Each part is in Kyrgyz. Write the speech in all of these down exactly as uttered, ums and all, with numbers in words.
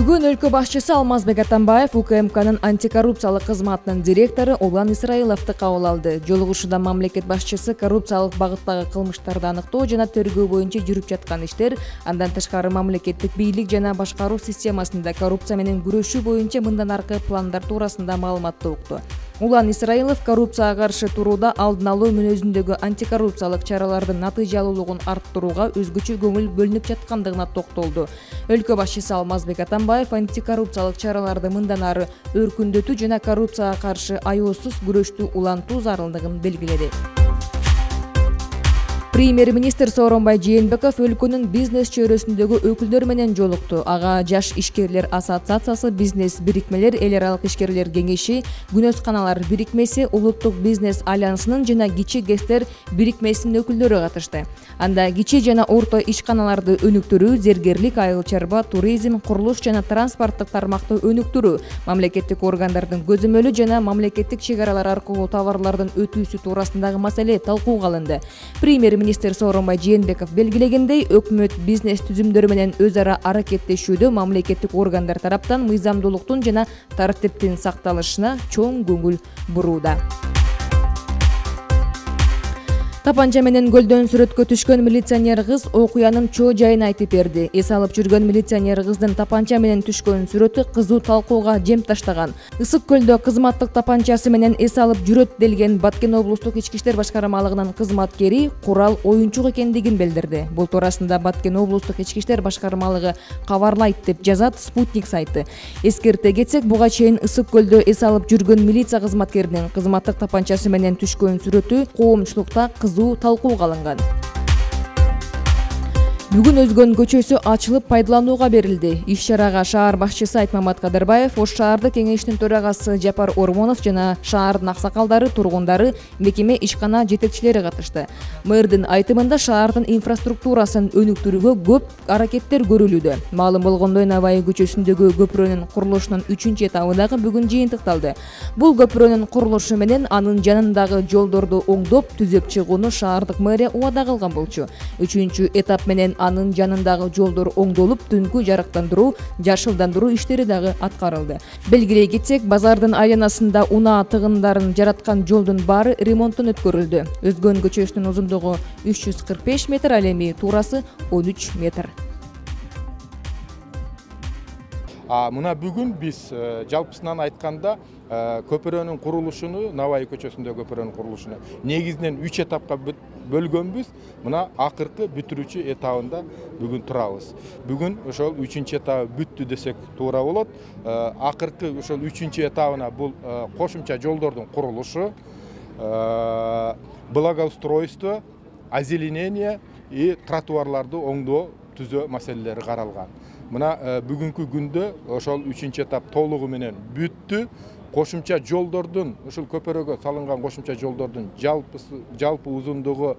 Бүгүн өлкө башчысы Алмазбек Атамбаев УКМКнын антикоррупциялык кызматынын директору Улан Исраиловду кабыл алды. Жолугушууда мамлекет башчысы коррупциялык багыттагы кылмыштарды аныктоо жана тергөө боюнча жүрүп жаткан иштер, андан тышкары мамлекеттик бийлик жана башкаруу системасында коррупция менен күрөшүү боюнча мындан аркы пландар туурасында маалыматты укту. Улан Исраилов коррупцияга каршы турууда алдын алуу мүнөзүндөгү антикоррупциялык чаралардын натыйжалуулугун арттырууга өзгөчө көңүл бөлүнүп жаткандыгына токтолду. Өлкө башчысы Алмазбек Атамбаев антикоррупциялык чараларды мындан ары өркүндөтүү жана коррупцияга каршы аяосуз күрөштү улантуу зарылдыгын белгиледи. Премьер-министр Сооронбай Жээнбеков өлкөнүн бизнес чөйрөсүндөгү өкүлдөр менен жолукту. Ага Жаш ишкерлер ассоциациясы, бизнес бирикмелер, эл аралык ишкерлер кеңеши, күнөсканалар бирикмеси, улуттук бизнес альянсынын жана кичи гэстер бирикмесинин өкүлдөрү катышты. Анда кичи жана орто ишканаларды өнүктүрүү, зергерлик, айыл чарба, туризм, курулуш жана транспорттук тармакты өнүктүрүү, мамлекеттик органдардын көзөмөлү жана мамлекеттик чек аралар аркылуу товарлардын өтүүсү туурасындагы маселе талкууга алынды. Премьер-министр Сооронбай Жээнбеков белгилегендей, өкмөт бизнес түзүмдөрү менен өз ара аракеттешүүдө мамлекеттик органдар тараптан мыйзамдуулуктун жана тартиптин сакталышына чоң көңүл бурууда. Тапанча менен көлдөн сүрөткө түшкөн милиционер кыз окуянын чоо жайын айтып берди. Эс алып жүргөн милиционер кыздын тапанча менен түшкөн сүрөтү кызуу талкууга жем таштаган. Ысык көлдө кызматтык тапанчасы менен эс алып жүрөт делген Баткен облустук ички иштер башкармалыгынын кызматкери курал оюнчук экендигин билдирди. Бул туурасында Баткен облустук ички иштер башкармалыгы кабарлайт деп жазат Спутник сайты. Эскерте кетсек, буга чейин ысык көлдө эс алып жүргөн милиция кызматкеринин кызматтык тапанчасы менен түшкөн сүрөтү коомчулукта кызуу талкууга алынган. Бүгүн Өзгөн көчөсү ачылып пайдаланууга берилди. Иш-чарага шаар башчысы Айтмамат Кадырбаев, Ош шаардык кеңештин төрагасы Жапар Ормонов жана шаардын аксакалдары, тургундары, мекеме ишкана жетекчилери катышты. Мэрдин айтымында шаардын инфраструктурасын өнүктүрүүгө көп аракеттер көрүлүүдө. Маалым болгондой, Наваи көчөсүндөгү көпүрөнүн курулушунун үчүнчү этабы дагы бүгүн жыйынтыкталды. Бул көпүрөнүн курулушу менен анын жанындагы жолдорду оңдоп, түзөп чыгууну шаардык мэрия убада кылган болчу. Үчүнчү этап менен анын жанындагы жолдор оңдолуп, түнкү жарыктандыруу, жашылдандыруу иштери дагы аткарылды. Белгилей кетсек, базардын айланасында унаа тыгындарын жараткан жолдун баары ремонттон өткөрүлдү. Өзгөн көчөсүнүн узундугу үч жүз кырк беш метр, ал эми туурасы он үч метр. Мына бүгүн биз жалпысынан айтканда көпүрөнүн курулушуну, Наваи көчөсүндөгү көпүрөнүн курулушуну негизинен үч этапка бөлгөнбүз. Мына акыркы бүтүрүүчү этабында бүгүн турабыз. Бүгүн ошол үчүнчү этабы бүттү десек туура болот. Акыркы ошол үчүнчү этабына бул кошумча жолдордун курулушу, благоустройство, озеленение и тротуарларды оңдоо, түзөө маселелери каралган. Мына бүгүнкү күндө ошол үчүнчү этап толугу менен бүттү. Кошумча жолдордун, ошол көпөрөгө салынган кошумча жолдордун жалпысы жалпы узундугу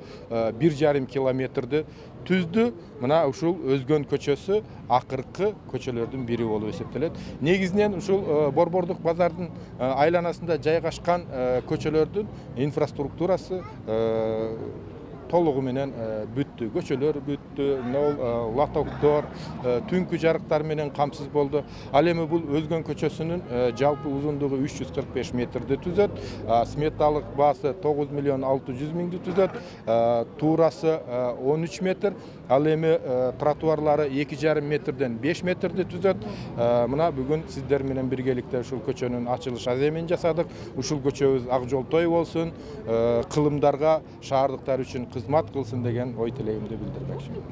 бир жарым километрди түздү. Мына ушул Өзгөн көчөсү акыркы көчөлөрдүн бири болуп эсептелет. Негизинен ушул Борбордук базардын айланасында жайгашкан көчөлөрдүн инфраструктурасы толугу менен бүттү. Көчөлөр бүттү, лотоктор, түнкү жарыктар менен камсыз болду. Ал эми бул Өзгөн көчөсүнүн жалпы узундугу үч жүз кырк беш метрди түзөт. Сметалык баасы тогуз миллион алты жүз миңди түзөт. Туурасы он үч метр. Ал эми тротуарлары эки жарым метрден беш метрди түзөт. Мына бүгүн сиздер менен биргеликте ушул көчөнүн ачылыш аземин жасадык. Ушул көчөбүз ак жолтой болсун, кылымдарга, шаардыктар үчүн кызмат кылсын деген ой тилегимди билдирмекчимин.